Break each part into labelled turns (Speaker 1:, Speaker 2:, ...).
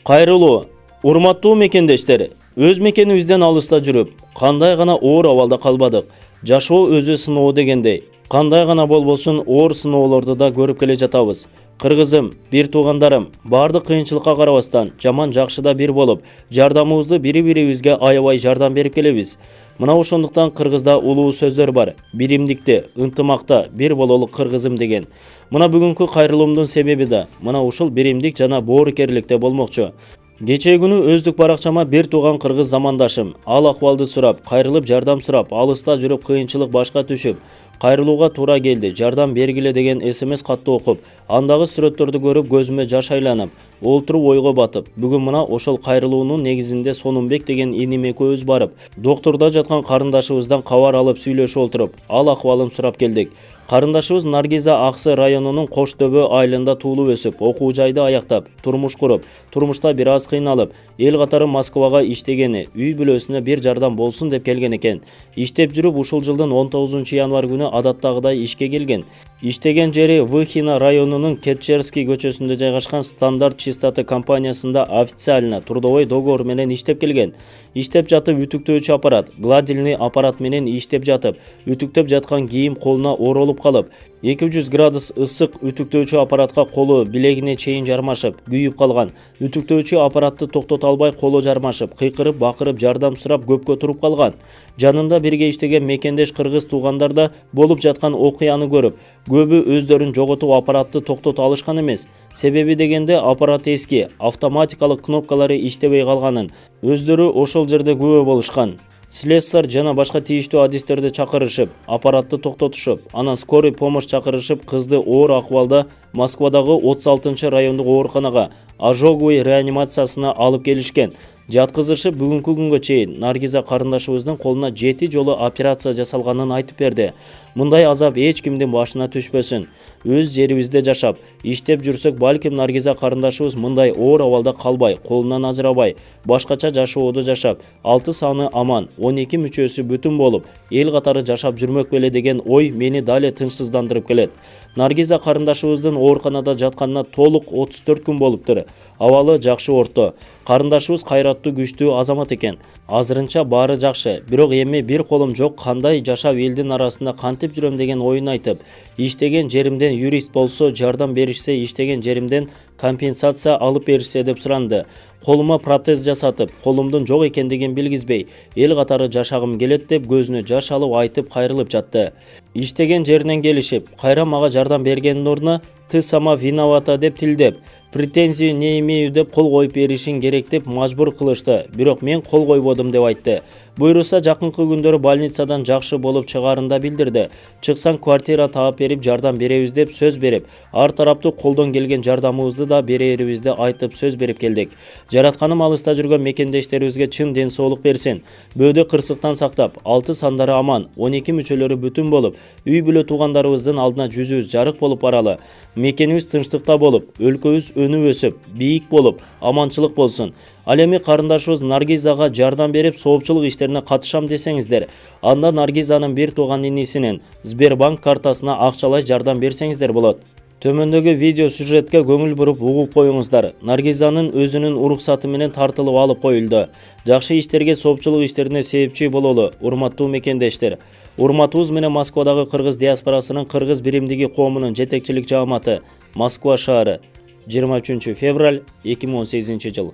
Speaker 1: Кайрылуу, урматтуу мекендештер, өз мекенибизден алыста жүрүп, кандай гана оор абалда калбадык. Жашоо өзү сыноо дегендей, кандай гана болбосун оор сыноолорду да көрүп келе жатабыз. Кыргызым, бир туугандарым, бардык кыйынчылыкка карабастан, жаман жакшыда бир болуп, жардамыбызды бири-бирибизге аябай жардам берип келебиз. Мына ошондуктан кыргызда улуу сөздөр бар. Биримдикте, ынтымакта, бир бололу кыргызым деген. Мына бүгүнкү кайрылуумдун себеби да мына ушул биримдик жана боорукерликте болмокчу. Кечээ күнү өздүк баракчама бир тууган кыргыз замандашым ал акыбалды сурап, кайрылып жардам сурап, алыста жүрүп кыйынчылык башка түшүп, кайрылууга туура келди, жардам бергиле деген СМС катты окуп, андагы сүрөттөрдү көрүп көзүмө жаш айланып, олтуруп ойго батып, бүгүн мына ошол кайрылуунун негизинде Сонунбек деген иним экөөбүз барып, доктурда жаткан карындашыбыздан кабар алып сүйлөшүп олтуруп, ал акыбалын сурап келдик. Карындашыбыз Наргиза Аксы районунун Кош Дөбө айылында туулуп өсүп, окуу жайды аяктап, турмуш куруп, турмушта бир аз кыйналып, эл катары Москвага иштегени, үй бүлөсүнө бир жардам болсун деп келген экен. Иштеп жүрүп ушул жылдын 19 январь күнү адаттагыдай ишке келген. Иштеген жери Выхино районунун Кетчерский көчөсүндө жайгашкан Стандарт чистоты компаниясында официально трудовой договор менен иштеп келген. Иштеп жатып үтүктөөчү аппарат, гладильный аппарат менен иштеп жатып, үтүктөп жаткан кийим колуна оролуп калып, 200 градус ысык үтүктөөчү аппаратка колу билегине чейин жармашып, күйүп калган. Үтүктөөчү аппаратты токтото албай колу жармашып, кыйкырып, бакырып жардам сурап көпкө туруп калган. Жанында бирге иштеген мекендеш кыргыз туугандар да болуп жаткан окуяны көрүп, көбү өздөрүн жоготуп аппаратты токтото алышкан эмес. Себеби дегенде аппарат эски, автоматикалык кнопкалары иштебей калганын өздөрү ошол жерде күбө болушкан. Слесарь жана башка тийиштүү адистерди чакырышып, аппаратты токтотушуп, анан скорый помощь чакырышып, кызды оор акыбалда Москвадагы 36 райондук ооруканага ожоговый реанимациясына алып келишкен. Жаткызышып бүгүнкү күнгө чейин Наргиза карындашыбыздын колуна 7 жолу операция жасалганын айтып берди. Мындай азап эч кимдин башына түшпөсүн. Өз жерибизде жашап, иштеп жүрсөк, балким Наргиза карындашыбыз мындай оор абалда калбай, колунан ажырабай, башкача жашоодо жашап, 6 саны аман, 12 мүчөсү бүтүн болуп, эл катары жашап жүрмөк беле деген ой мени дале тынчсыздандырып келет. Наргиза карындашыбыздын ооруканада жатканына толук 34 күн болуптур. Абалы жакшы орто. Карындашыбыз кайраттуу, күчтүү азамат экен. Азырынча баары жакшы, бирок эми бир колум жок, кандай жашап элдин арасында кантип жүрөм деген оюн айтып, иштеген жеримден юрист болсо жардам беришсе, иштеген жеримден компенсация алып беришсе деп суранды. Колума протез жасатып, колумдун жок экендигин билгизбей, эл катары жашагым келет деп көзүнө жаш алып айтып кайрылып жатты. Иштеген жеринен келишип, кайра мага жардам бергендин ордуна «ты сама виновата» деп тилдеп, претензию не имею деп кол коюп беришин керек деп мажбур кылышты, бирок мен кол койбодум деп айтты. Буйруса жакынкы күндөрү больницадан жакшы болуп чыгаарында билдирди. Чыксаң квартира таап берип жардам беребиз деп сөз берип, ар тараптуу колдон келген жардамыбызды да берерибизди айтып сөз берип келдик. Жаратканым алыста жүргөн мекендештерибизге чын ден соолук берсин. Бөөдө кырсыктан сактап, 6 сандары аман, 12 мүчөлөрү бүтүн болуп, үй бүлө туугандарыбыздын алдына жүзүбүз жарык болуп баралы. Мекенибиз тынчтыкта болуп, өлкөбүз өнүп өсүп, бийик болуп, аманчылык болсун. Ал эми карындашыбыз Наргизага жардам берип, соопчулук иштерине катышам десеңиздер, анда Наргизанын бир тууган инисинин Сбербанк картасына акчалай жардам берсеңиздер болот. Төмөндөгү видео сюжетке көңүл буруп угуп коюңуздар. Наргизанын өзүнүн уруксаты менен тартылып алып коюлду. Жакшы иштерге, соопчулук иштерине себепчи бололу, урматтуу мекендештер. Урматыбыз менен Москвадагы кыргыз диаспорасынын кыргыз биримдиги коомунун жетекчилик жааматы, Москва шаары, 23 февраль 2018 жыл.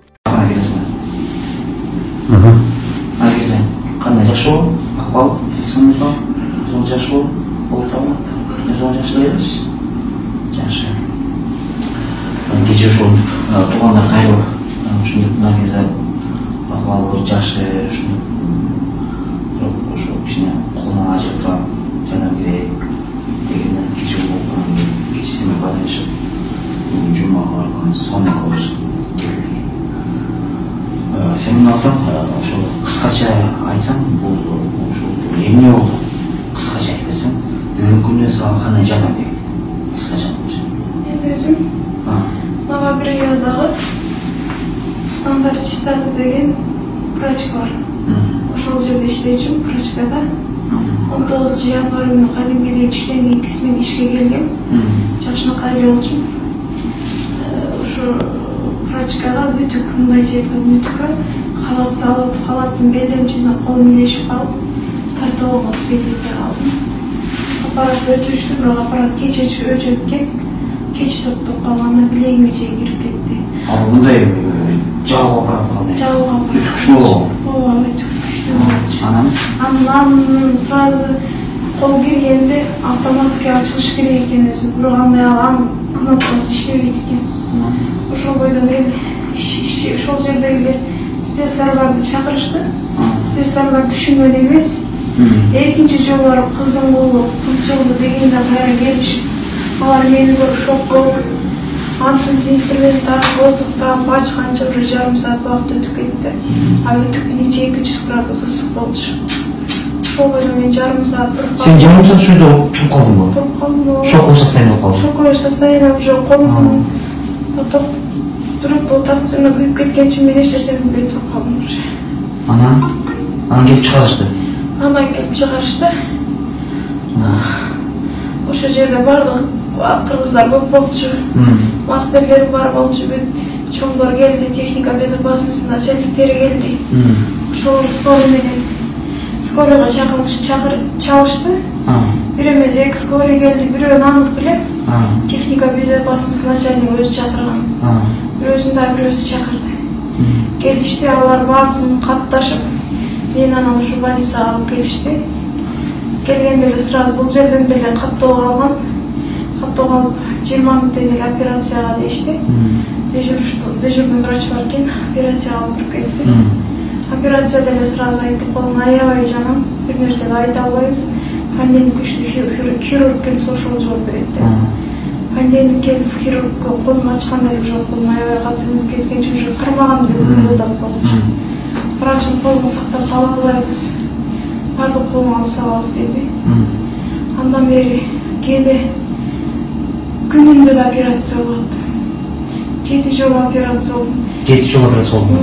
Speaker 2: Наргиза, кандай жашоо? Акыбал, сынып, зор жашоо болтабы? Зор жашайбыз. Жакшы. Кечээ ошол туугандар кайрылып, ушундук Наргиза акыбалы жакшы, ушундук ошо кичине колунан ажырып турап, жардам керек дегенден кечээ болгон, кечээсине байланышып, жумага барган сонун болуп сен алсаң, ошол кыскача айтсаң, бул ошол эмне болду? Кыскача айтсаң, бүгүнкү күндө сага кандай жардам керек? Кыскача болчу.
Speaker 3: Мен өзүм мага бир аялдагы Стандарт чистоты деген врач бар. Ошол жерде иштейчүмүн, врачтада. 19 январь күнү кадимкидей түштөн кийин кисмен ишке келгем. Жакшына кайрылчумун. Ошо Прачкага бүтүк мындай жеткен бүтүккө халат салып, халаттын белемчисине колум илешип калып, тартып алган спекерге калдым. Аппаратты өчүрүштү, бирок аппарат кеч өчүрүп кеч токтоп калганда билегиме чейин кирип кетти.
Speaker 2: Ал мындай жабык аппарат калды.
Speaker 3: Жабык аппарат.
Speaker 2: Өтө күчтүү.
Speaker 3: Ооба, өтө күчтүү.
Speaker 2: Анан
Speaker 3: сразу кол киргенде автоматически ачылыш керек экен өзү. Бирок анын кнопкасы иштебейт экен. Ошол бойдон ошол жердегилер слесарьларды чакырышты. Слесарьлар түшүнбөдү эмес. Экинчи жолу барып кыздын колу кылчылды дегенде кайра келишип, алар мени көрүп шок болуп, антип инструмент тартып, озуктап, ачканча уже жарым саат убакыт өтүп кетти. А бүтүктүн ичи 200 градус ысык болчу. Ошол бойдон мен жарым саат туруп калдым.
Speaker 2: Сен жарым саат ушул жерде туруп калдыңбы?
Speaker 3: Туруп калдым.
Speaker 2: Шоковый состояние болуп калдың.
Speaker 3: Шоковый состояние уже колум туруп тартына күйүп кеткен үчүн мен эч нерсени билбей туруп калдым уже.
Speaker 2: Анан келип чыгарышты.
Speaker 3: Андан келип чыгарышты. Ошол жерде бардык кыргыздар көп болчу. Мастерлер бар болчу, бүт чоңдор келди, техника безопасности начальниктери келди. Ошол скорый менен скорыйга чалышты. Бир эмес эки скорый келди, бирөөнү анык билем. Техника безопасности начальниги өзү чакырган. Бирөөсүн да бирөөсү чакырды. Келишти, алар баасын катташып, мен анан ушу больницага алып келишти. Келгенде эле сразу бул жерден деле каттоо калган. Каттоо калып 20 мүнөттөн эле операцияга дешти. Дежурный врач бар экен, операцияга алып кирип кетти. Операцияда эле сразу айтып, колуң аябай жаман, бир нерсе айта албайбыз. Пандемик күчтүү хирург келсе ошол жооп берет деп. Пандемик келип хирургка колумду ачканда эле уже колум аябай катуу күйүп кеткен үчүн уже кармаган эле көрүп болчу. Врачым колуңду сактап кала албайбыз, бардык колуңду алып салабыз деди. Андан бери кээде күнүндө да операция болот. 7 жолу операция болду.
Speaker 2: 7 жолу операция болду.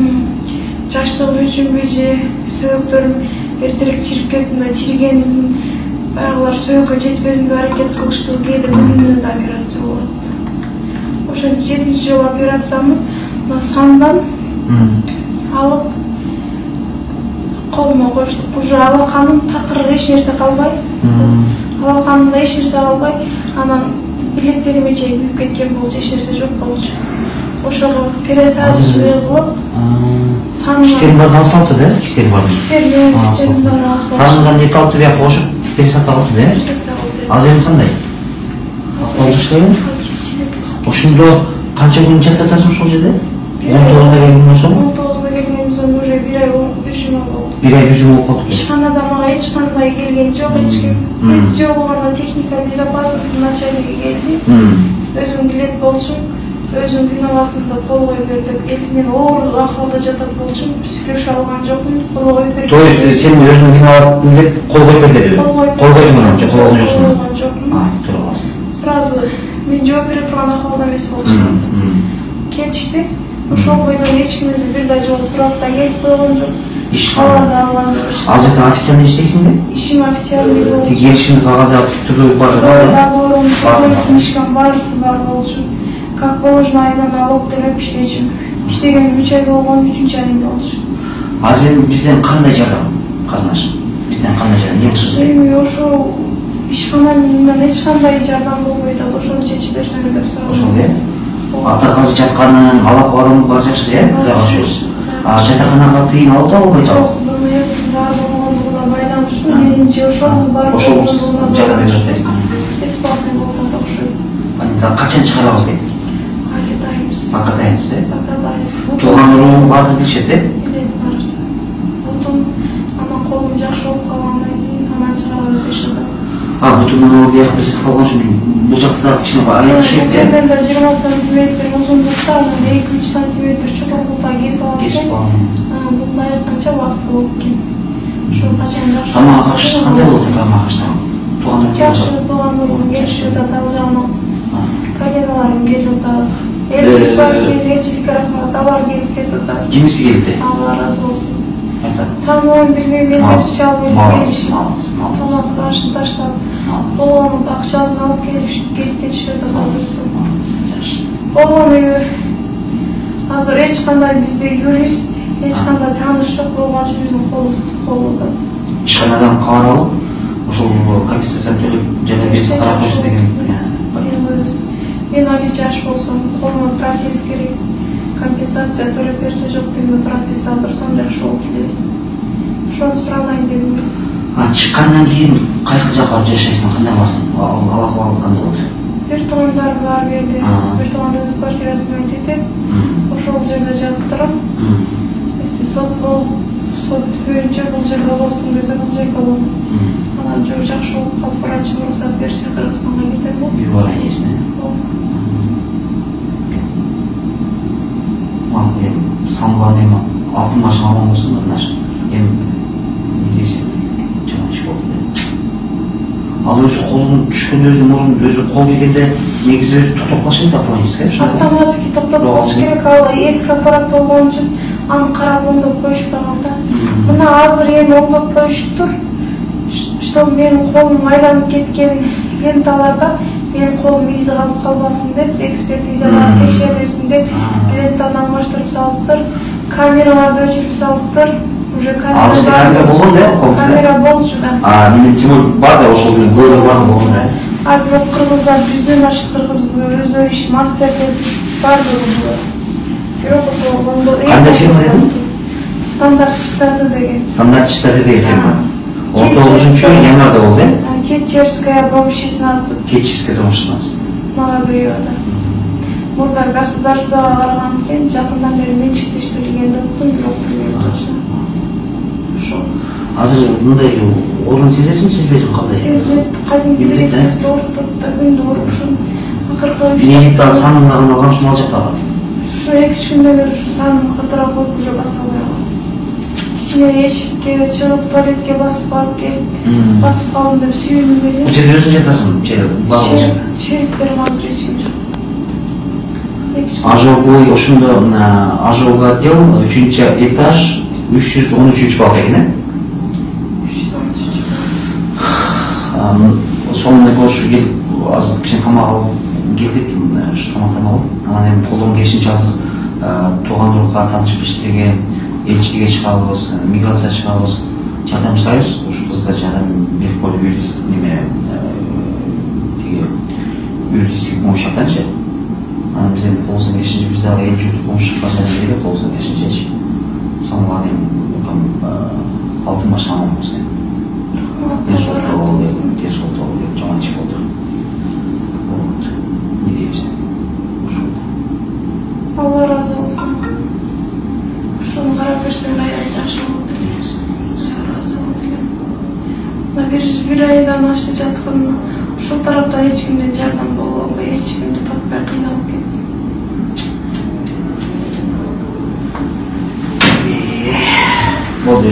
Speaker 3: Жаштыгым үчүнбү же сөөктөрүм эртерээк чирип кетти, чиригенин баягылар сөөккө жетпесин деп аракет кылыштуу, кээде күнүндө да операция болот. Ошо 7 жолу операциямды сандан алып колума коштук. Уже алаканым такыр эч нерсе калбай, алаканымда эч нерсе калбай, анан билектериме чейин күйүп кеткен болчу, эч нерсе жок болчу. Ошого пересадочный кылып,
Speaker 2: кистерин баары алып салыптыр да? Кистерин баары
Speaker 3: баары алып салыптыр.
Speaker 2: Санынан эти алып бияка кошуп, пересадка кылыптыр да? Азыр эми кандай? Акыбал жаштайбы? Ошондо канча күн жатасың ошол жерде? 19-да келгенден соң?
Speaker 3: 19-да келгенден соң уже 1 ай 1 жума болду.
Speaker 2: 1 ай 1 жума болуп калды.
Speaker 3: Ишканада мага эч кандай келген жок, эч ким. Бир жолу гана техника безопасности начальниги келди. Өзүң билет болчу. Өзүм күнү вакытында кол коюп бер деп келди. Мен оор акыбалда жатат болчумун, сүйлөшө алган жокмун, кол коюп бер.
Speaker 2: То есть сен өзүң күнү вакытында деп кол коюп бер деди. Кол койдуң анан, жок кол жоксуң. Туура каласың.
Speaker 3: Сразу мен жооп бере турган акыбалда эмес болчумун. Кетишти. Ошол бойдон эч ким бир да жолу сурап да келип койгон жок.
Speaker 2: Иш
Speaker 3: алган алган.
Speaker 2: Ал жакта официально иштейсиңби?
Speaker 3: Ишим официальный болчу.
Speaker 2: Тик келишимди кагазы түрдүү бар.
Speaker 3: Книжкам баарысы бар болчу. Как положено, айынан алып төлөп иштейчүмүн. Иштегеним 3 ай болгон, 3-чү айымда болчу.
Speaker 2: Азыр бизден кандай жардам катнаш? Бизден кандай жардам?
Speaker 3: Эми ошол ишканадан эч кандай жардам болбойт, ошону чечип берсеңер деп сурап.
Speaker 2: Ошол э? Ата кызы жатканын, алак-балым бар жакшы э? Кудайга шүгүр. Жатаканага тыйын алып да болбойт.
Speaker 3: Жок, БМС бар болгондугуна байланыштуу. Менимче ошол бар болгондугуна
Speaker 2: жардам берип жатасың.
Speaker 3: Бесплатный болуп окшойт.
Speaker 2: Анда качан чыгарабыз дейт?
Speaker 3: Акадайыз.
Speaker 2: Акадайыз. Тууган уруу баары билишет э?
Speaker 3: Билет баарысы. Бутум, анан колум жакшы болуп калгандан кийин анан чыгарабыз ишинде.
Speaker 2: Бутумун бияка бирси калган үчүн бул жакта да кичине аяк шейт.
Speaker 3: Жерден 20 сантиметр узундукта, 2-3 сантиметр чоңдукта кесип алып экен. Мындай канча убакыт болуп экен. Ошо качан жакшы.
Speaker 2: Тамак аш кандай болот тамак? Туугандар
Speaker 3: жакшы, туугандарым келишип атат, ал жагынан коленаларым келип атат. Элчилик бар экен, элчиликке рахмат, алар келип кетип атат.
Speaker 2: Кимиси келди?
Speaker 3: Алла разы болсун.
Speaker 2: Тааныбайм,
Speaker 3: билбейм, мен бериши албайм. Тамак ашын таштап, болгонун акчасын алып келип кетишип атат албызды. Болгону Азыр эч кандай бизде юрист, эч кандай тааныш жок болгон үчүн биздин колубуз кыска болуп атат.
Speaker 2: Ишканадан кабар алып, ошол компенсацияны төлөп жана биз карап койсун деген.
Speaker 3: Мен али жаш болсом, колума протез керек. Компенсация төлөп берсе жок дегенде протез салдырсам жакшы болот эле. Ошону суралайын дедим.
Speaker 2: Чыккандан кийин кайсы жакка барып жашайсың, кандай кыласың? Алла кылган кандай болот?
Speaker 3: Бир туугандарым бар берди. Бир тууган өз квартирасына кетет. Ошол жерде жатып турам. Если сот бүтпөйүнчө бул жерде болсун десе, бул жерде болом. Анан жакшы болуп калып врачы уруксат берсе, Кыргызстанга кетем го.
Speaker 2: Үй бар эсине. Макул эми самган эми алтын машина алган болсун да, мына эми не десем, жаман иш болду. Ал өзү колун түшкөндө өзү мурун өзү кол келгенде негизи өзү токтоп калышы керек автоматически.
Speaker 3: Автоматически токтоп калыш керек, ал эски аппарат болгон үчүн аны карап оңдоп коюшпаган да. Мына азыр эми оңдоп коюшуптур. Что менин колум айланып кеткен ленталарда менин колум изи калып калбасын деп, экспертизалар текшербесин деп лентаны алмаштырып салыптыр. Камераларды өчүрүп салыптыр. Уже
Speaker 2: камера болгон да,
Speaker 3: камера болчу да.
Speaker 2: Немен Тимур бар да, ошол менен көөлөр бар болгон да.
Speaker 3: Бирок кыргыздар 100дөн ашык кыргыз өздөрү иш мастер деп бар болгон. Бирок ошол оңдо.
Speaker 2: Кандай фирма дедиң?
Speaker 3: Стандартчистарды деген.
Speaker 2: Стандартчистарды деген фирма. 19-чу январда болду, э?
Speaker 3: Кетчерская, дом 16.
Speaker 2: Кетчерская, дом 16.
Speaker 3: Молодоеда. Мурда государствого караган экен, жакындан бери менчиктештирилген деп уктум, бирок билбейм точно. Ошо.
Speaker 2: Азыр мындай орун сезесиңби, сезбейсиңби, кандай?
Speaker 3: Сезет, кадимкидей сезет, оорутуп да күндү оорушун. Акыркы
Speaker 2: Бийликтин санын алган ушул жактагы.
Speaker 3: Ушу 2-3 күндөн бери ушу санын кытырап коюп уже баса албай калдым. Кичине эшикке чыгып туалетке басып барып келип, басып калдым деп сүйүнүп эле.
Speaker 2: Бул жерде өзүң жатасың,
Speaker 3: Шериктерим азыр эч ким жок.
Speaker 2: Ожоговой ошондо ожоговый отдел 3-этаж 313 балка экен, э? 313. Сонун көрүшүп келип, азыр кичине тамак алып келдик, тамак алып. Анан эми колдон келишинче азыр туугандуулукка таанышып иштеген элчиликке чыгабыз, миграция чыгабыз, жардам сурайбыз. Ушу кызга жардам берип коюп юридический неме юридический помощь атанчы. Анан биз эми колубуздан келишинче биз дагы эл журтту помощька жардам берели, колубуздан келишинчечи. Самган эми алтын машина алганбыз деп. Тез болду деп жаман иш болду. Не дейбиз?
Speaker 3: Алла разы болсун. Ошону карап берсең аябай жакшы болот эле. Разы болот элем. Бир айдан ашты жаткан, ушул тараптан эч кимден жардам болуп албай, эч кимди таппай кыйналып кеттим.
Speaker 2: Болду,